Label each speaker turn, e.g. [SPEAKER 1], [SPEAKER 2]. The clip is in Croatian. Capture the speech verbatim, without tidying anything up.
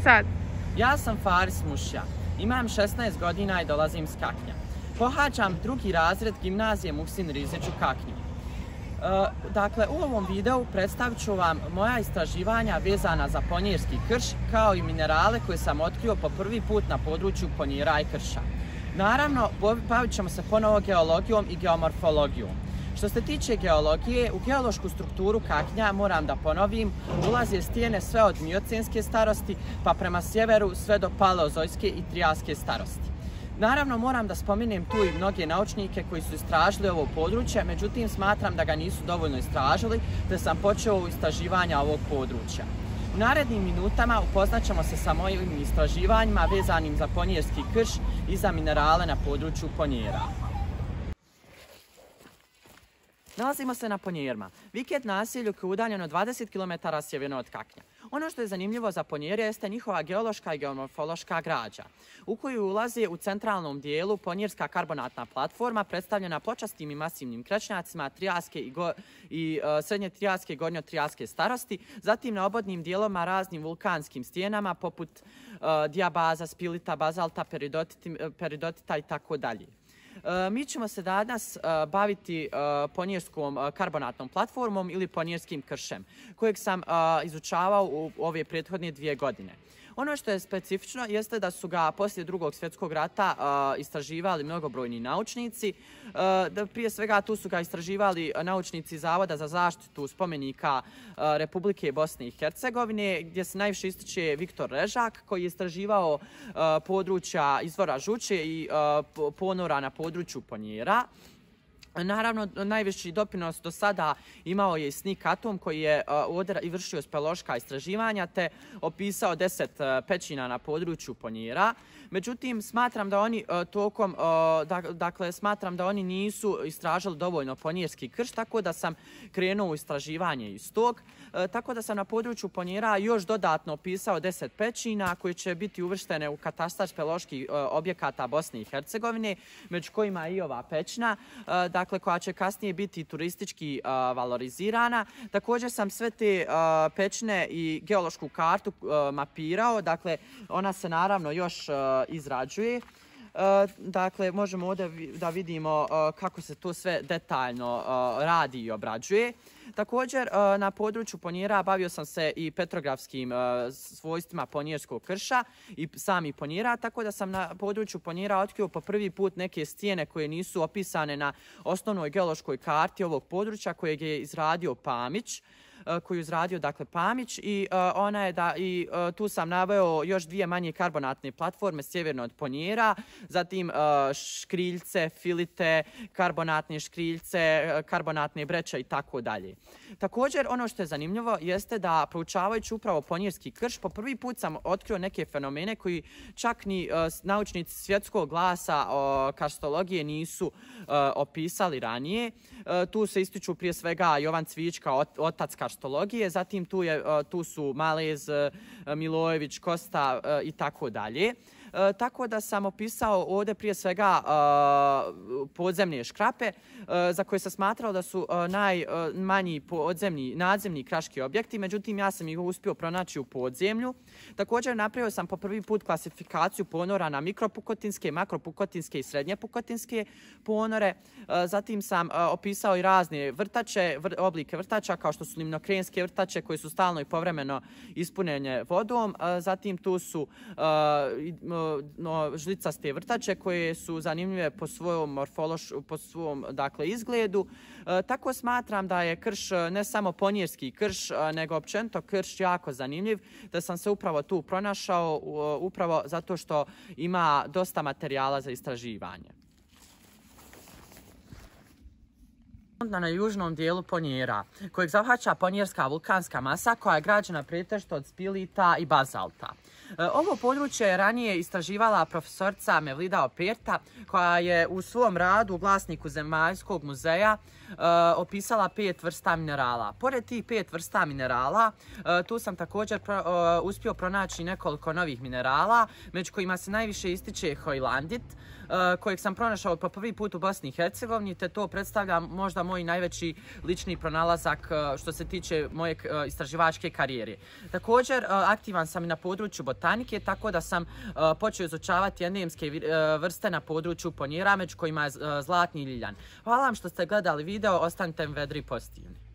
[SPEAKER 1] sad?
[SPEAKER 2] Ja sam Faris Mušja, imam šesnaest godina i dolazim s Kaknja. Pohađam drugi razred gimnazije Muhsin Rizić u Kaknju. E, dakle, u ovom videu predstavit ću vam moja istraživanja vezana za ponjerski krš, kao i minerale koje sam otkrio po prvi put na području Ponjera i krša. Naravno, bavit ćemo se ponovo geologijom i geomorfologijom. Što se tiče geologije, u geološku strukturu Kaknja, moram da ponovim, ulaze stijene sve od miocenske starosti pa prema sjeveru sve do paleozojske i trijaske starosti. Naravno, moram da spomenem tu i mnoge naučnike koji su istražili ovo područje, međutim smatram da ga nisu dovoljno istražili, te sam počeo u istraživanja ovog područja. U narednim minutama upoznat ćemo se sa mojim istraživanjima vezanim za ponjerski krš i za minerale na području Ponjera. Nalazimo se na Ponjerima, Viket naselju koje je udaljeno dvadeset kilometara sjeverno od Kaknja. Ono što je zanimljivo za Ponjere jeste njihova geološka i geomorfološka građa, u koju ulazi u centralnom dijelu ponjerska karbonatna platforma predstavljena pločastim i masivnim krečnjacima trijaske i, go, i uh, srednje trijaske i gornjo trijaske starosti, zatim na obodnim dijeloma raznim vulkanskim stijenama poput uh, dijabaza, spilita, bazalta, peridotita i tako dalje. Mi ćemo se danas baviti ponjerskom karbonatnom platformom ili ponjerskim kršem, kojeg sam izučavao u ove prethodne dvije godine. Ono što je specifično jeste da su ga poslije Drugog svjetskog rata uh, istraživali mnogobrojni naučnici. Uh, da prije svega tu su ga istraživali naučnici Zavoda za zaštitu spomenika uh, Republike Bosne i Hercegovine, gdje se najviše ističe Viktor Režak, koji je istraživao uh, područja izvora žuće i uh, ponora na području Ponjera. Naravno, najveći doprinos do sada imao je i Snik Atom, koji je uh, vršio speleološka istraživanja te opisao deset uh, pećina na području Ponjera. Međutim, smatram da oni uh, tokom, uh, da, dakle, smatram da oni nisu istražili dovoljno ponjerski krš, tako da sam krenuo u istraživanje iz tog. Uh, tako da sam na području Ponjera još dodatno opisao deset pećina koje će biti uvrštene u katastar speleoloških uh, objekata Bosne i Hercegovine, među kojima i ova pećina, uh, dakle, koja će kasnije biti turistički uh, valorizirana. Također sam sve te uh, pećine i geološku kartu uh, mapirao, dakle, ona se naravno još uh, izrađuje. Uh, dakle, možemo ovdje da vidimo uh, kako se to sve detaljno uh, radi i obrađuje. Također, uh, na području Ponjera bavio sam se i petrografskim uh, svojstvima ponjerskog krša i sami Ponjera, tako da sam na području Ponjera otkrio po prvi put neke stijene koje nisu opisane na osnovnoj geološkoj karti ovog područja kojeg je izradio Pamić. koju je izradio, dakle, Pamić, i uh, ona je da i uh, tu sam naveo još dvije manje karbonatne platforme sjeverno od Ponjera, zatim uh, škriljce, filite, karbonatne škriljce, karbonatne breće i tako dalje. Također, ono što je zanimljivo jeste da, proučavajući upravo ponjerski krš, po prvi put sam otkrio neke fenomene koji čak ni uh, naučnici svjetskog glasa uh, karstologije nisu uh, opisali ranije. Uh, tu se ističu prije svega Jovan Cvijićka, ot, otac karstologije, zatim tu, je, tu su Malez, Milojević, Kosta i tako dalje. E, tako da sam opisao ovdje prije svega e, podzemne škrape, e, za koje sam smatrao da su e, najmanji podzemni, nadzemni kraški objekti, međutim ja sam ih uspio pronaći u podzemlju. Također napravio sam po prvi put klasifikaciju ponora na mikropukotinske, makropukotinske i srednje pukotinske ponore. E, zatim sam e, opisao i razne vrtače, vr, oblike vrtača kao što su limnokrenske vrtače koje su stalno i povremeno ispunjene vodom. E, zatim tu su e, no, žlicaste vrtače koje su zanimljive po svojom morfološ, po svom, dakle, izgledu. E, tako smatram da je krš ne samo ponjerski krš, nego općenito krš jako zanimljiv, da sam se upravo tu pronašao, upravo zato što ima dosta materijala za istraživanje. Na južnom dijelu Ponjera, kojeg zahvaća ponjerska vulkanska masa koja je građena pretežito od spilita i bazalta. Ovo područje je ranije istraživala profesorica Mevlida Operta, koja je u svom radu u glasniku Zemaljskog muzeja uh, opisala pet vrsta minerala. Pored tih pet vrsta minerala, uh, tu sam također pro, uh, uspio pronaći nekoliko novih minerala, među kojima se najviše ističe hojlandit, uh, kojeg sam pronašao po prvi put u Bosni i Hercegovini, te to predstavlja možda moj najveći lični pronalazak što se tiče moje istraživačke karijere. Također, aktivan sam i na području botanike, tako da sam počeo izučavati endemske vrste na području ponjera, među kojima je zlatni ljiljan. Hvala vam što ste gledali video, ostanite vedri i pozitivni.